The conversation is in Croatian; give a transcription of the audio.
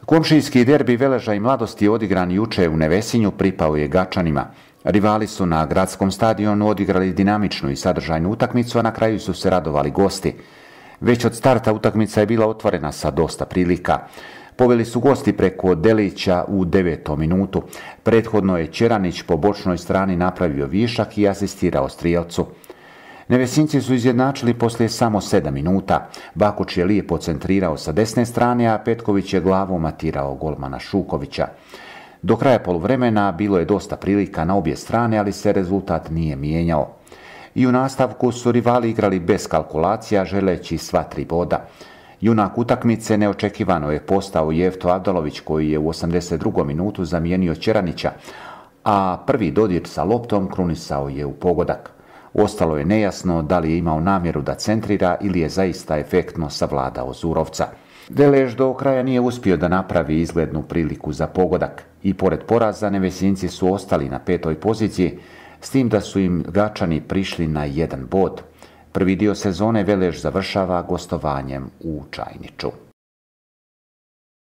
Komšijski derbi Veleža i Mladosti odigran juče u Nevesinju pripao je Gačanima. Rivali su na gradskom stadionu odigrali dinamičnu i sadržajnu utakmicu, a na kraju su se radovali gosti. Već od starta utakmica je bila otvorena sa dosta prilika. Poveli su gosti preko Delića u 9. minutu. Prethodno je Ćeranić po bočnoj strani napravio višak i asistirao strijelcu. Nevesinci su izjednačili poslije samo 7 minuta. Bakuć je lijepo centrirao sa desne strane, a Petković je glavom matirao golmana Šukovića. Do kraja poluvremena bilo je dosta prilika na obje strane, ali se rezultat nije mijenjao. I u nastavku su rivali igrali bez kalkulacija, želeći sva 3 boda. Junak utakmice neočekivano je postao Jefto Avdalović, koji je u 82. minutu zamijenio Ćeranića, a prvi dodir sa loptom krunisao je u pogodak. Ostalo je nejasno da li je imao namjeru da centrira ili je zaista efektno savladao Zurovca. Velež do kraja nije uspio da napravi izglednu priliku za pogodak i pored poraza Nevesinci su ostali na 5. poziciji, s tim da su im Gačani prišli na 1 bod. Prvi dio sezone Velež završava gostovanjem u Čajniču.